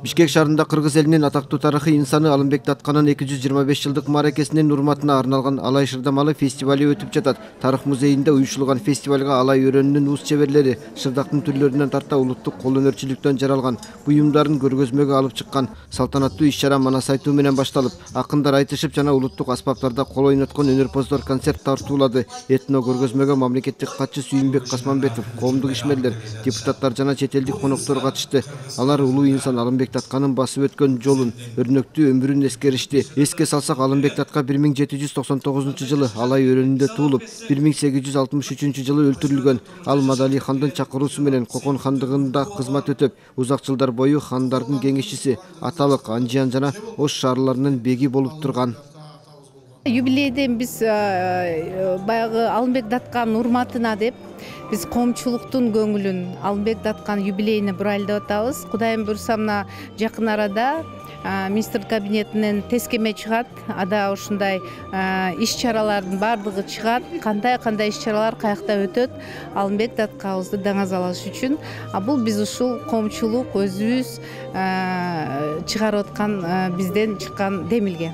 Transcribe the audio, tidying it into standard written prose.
Бишкек шаарында кыргыз элинин атактуу тарыхый инсаны Алымбек Датканын 225 жылдык мааракесинин урматына арналган Алай Шырдамалы фестивали өтүп жатат. Тарых музейинде уюштурулган фестивалга Алай өрөөнүнүн уус чеберлери шырдактын түрлөрүнөн тарта улуттук кол өнөрчүлүктөн жаралган буюмдарын көргөзмөгө алып чыккан. Салтанаттуу иш-чара манас айтуу менен башталып, акындар айтышып жана улуттук аспаптарда кол ойноткон өнөрпоздор концерт тартуулады. Этно көргөзмөгө мамлекеттик катчы Сүйүнбек Касманбетов, коомдук ишмерлер, депутаттар жана чет элдик коноктор катышты. Алар улуу инсан Алымбек Датканын басып өткөн жолун, өрнөктүү өмүрүн эскеришти. Эске салсак, Алымбек Датка 1799 жылы Алай өрөөнүндө туулуп, 1863 жылы өлтүрүлгөн. Ал Мадали хандын чакыруусу менен Кокон хандыгында кызмат өтөп, узак жылдар бою хандардын кеңешчиси, Аталык, Анжиян жана Ош шаарларынын беги болуп турган. Юбилейден биз баягы Алымбек Датканын урматына деп биз коомчулуктун көңүлүн Алымбек Даткан юбилейине бурайлап атабыз. Кудайым буйрса мына жакын арада министр кабинетинен тескеме чыгат. Ада ушундай иш-чаралардын баардыгы чыгат. Кандай иш-чаралар каякта өтөт Алымбек Даткабызды даңазалаш үчүн. Бул биз ушул коомчулук өзүбүз чыгарып аткан бизден чыккан демилге.